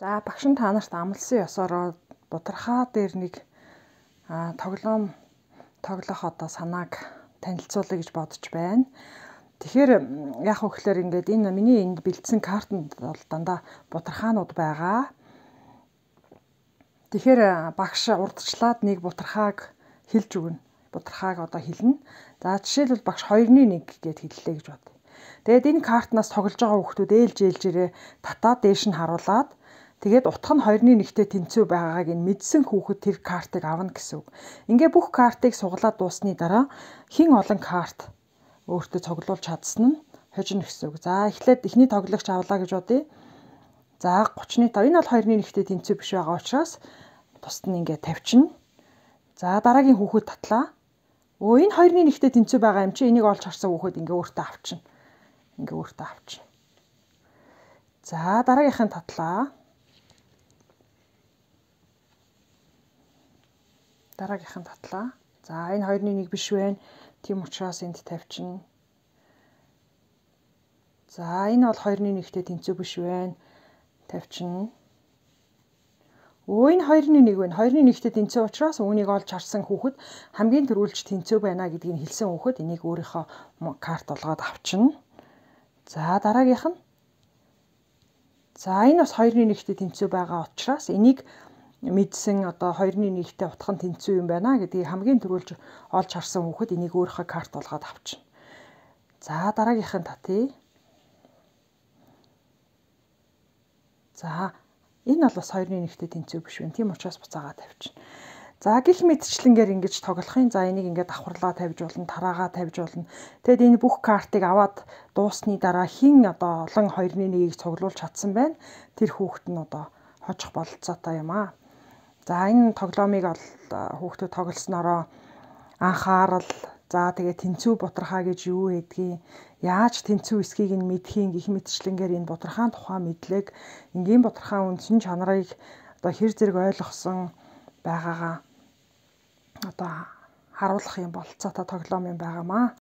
За багш нь та нарт амлсан ёсоор будархаа дээр нэг тоглоом тоглох одоо санааг танилцуулъя гэж бодож байна. Тэгэхээр яг хөөхлөөр ингээд энэ миний энд бэлдсэн картанд бол дандаа будархаанууд байгаа. Тэгэхээр багш урдчлаад нэг будархааг хэлж өгнө. Будархааг одоо хэлнэ. За жишээлбэл багш 2-1 гэд хэллээ гэж бод. Тэгээд энэ картнаас тоглож байгаа хүмүүс ээлжээрээ татаад дээш нь харуулад тэгээд утга нь 2-1-тэй тэнцүү байгааг нь мэдсэн хүүхэд тэр картыг авна гэсэн үг. Ингээ бүх картыг суглаад дуусны дараа хин олон карт өөртөө цуглуулж чадсан нь хожино гэсэн үг. За эхлээд эхний тоглогч авлаа гэж бодъё. За 30-5. Энэ бол 2-1-тэй тэнцүү биш байгаа учраас тусад нь ингээ тавьчихна. За дараагийн хүүхэд татлаа. Энэ 2-1-тэй тэнцүү байгаа юм чи энийг олж харсан хүүхэд ингээ өөртөө авчна. Ингээ өөртөө авчна. За дараагийнхын татлаа. Дараагийнхан татлаа. За энэ 2-1 биш байна. Тийм учраас энд тавьчихна. За энэ бол 2-1-тэй тэнцүү биш байна. Тавьчихна. Энэ 2-1 байна. 2-1-тэй тэнцүү учраас үүнийг олж харсан хүүхэд хамгийн түрүүлж тэнцүү байна гэдгийг хэлсэн хүүхэд энийг өөрийнхөө карт болгоод авчна. За дараагийнх нь. За энэ бас 2-1-тэй тэнцүү байгаа учраас энийг мэдсэн одоо 2-1-тэй утга нь тэнцүү юм байна гэдгийг хамгийн түрүүлж олж харсан хүүхэд энийг өөрийнхөө карт болгоод авчна. За дараагийнхын татъя. За энэ бол бас 2-1-тэй тэнцүү биш байна. Тийм учраас буцаагаа тавьчихна. За гих мэдчлэнгээр ингэж тоглохын. За энийг ингээд давхарлаа тавьж болно, тараагаа тавьж болно. Тэгэд энэ бүх картыг аваад дуусны дараа хин одоо олон 2-1-ийг цуглуулж чадсан байна. Тэр хүүхэд нь одоо хожих бололцоотой юм аа. За энэ тоглоомыг бол хүүхдүүд тоглоснороо анхаарал, за тэгээ тэнцүү будархаа гэж юу гэдгийг, яаж тэнцүү эсхийг нь мэдхийн гих мэдчлэнгээр энэ будархаан тухай мэдлэг, энгийн будархаан үндсэн чанарыг одоо хэр зэрэг ойлгосон байгаагаа одоо харуулах юм бололцоотой тоглоом юм байгаамаа.